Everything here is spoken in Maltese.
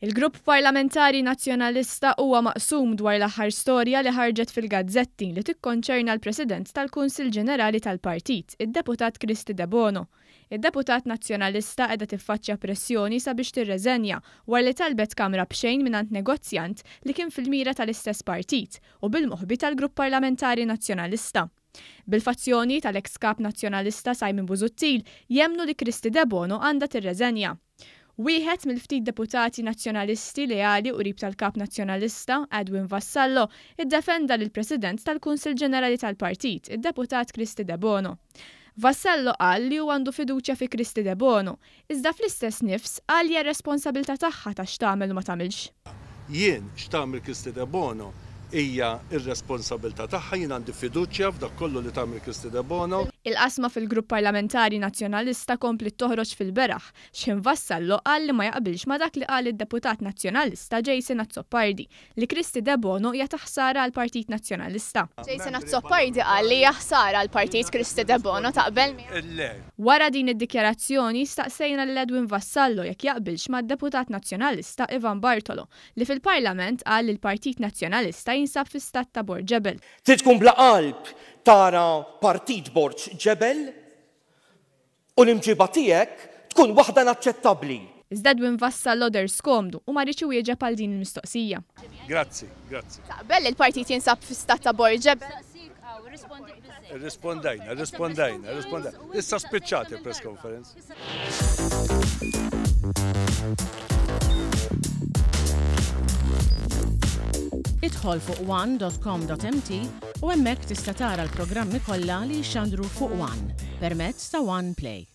Il-Grupp Parlamentari Nazzjonalista huwa maqsum dwar l-aħħar storja li ħarġet fil-gazzetti li tikkonċerna l-President tal-Kunsill Ġenerali tal-Partit, id-Deputat Kristy Debono. Id-Deputat Nazzjonalista qiegħda tiffaċċja pressjoni sabiex tirreżenja wara li talbet kamra b'xejn mingħand negozjant li kien fil-mira tal-istess partit u bil-moħbi tal-Grupp Parlamentari Nazzjonalista. Bil-fazzjoni tal-eks Kap Nazzjonalista Simon Busuttil jemmnu li Kristy Debono għandha tirreżenja. Wieħed mill-ftit deputati Nazzjonalisti leali u qrib tal-Kap Nazzjonalista, Edwin Vassallo, iddefenda lill-President tal-Kunsill Ġenerali tal-Partit, id-Deputat Kristy Debono. Vassallo qal li hu għandu fiduċja fi Kristy Debono, iżda fl-istess nifs qal li hija r-responsabilità tagħha ta' x'tagħmel u ma tagħmilx. Jien, x'tagħmel Kristy Debono hija r-responsabilità tagħha, jien għandi fiduċja f'dak kollu li tagħmel Kristy Debono. Il-qasma fil-Grupp Parlamentari Nazzjonalista kompliet toħroġ fil-beraħ, x'ħin Vassallo qal li ma jaqbilx ma' dak li qal id-Deputat Nazzjonalista Jason Azzopardi, li Kristy Debono hija ta' ħsara għall-Partit Nazzjonalista. Jason Azzopardi qal li hija ħsara għall-Partit Kristy Debono, taqbel miegħu? Le. Wara din id-dikjarazzjoni, staqsejna lil Edwin Vassallo jekk jaqbilx mad-Deputat Nazzjonalista Ivan Bartolo, li fil-Parlament qal li l-Partit Nazzjonalista jinsab fi stat ta' bord ġebel. Trid tkun bla qalb tara partit bord ġebel U l-imġiba tiegħek tkun waħda inaċċettabbli. Iżda Edwin Vassallo deher skomdu u ma riedx iwieġeb għal din il-mistoqsija. Grazzi, grazzi. Taqbel li l-partit jinsab fi stat ta' bord ġebel? Irrispondejna, irrispondejna, irrispondejna. Issa spiċċat il-press conference. Idħol fuq one.com.mt u hemmhekk tista' tara l-programmi kollha li jixxandru fuq One permezz ta' One Play.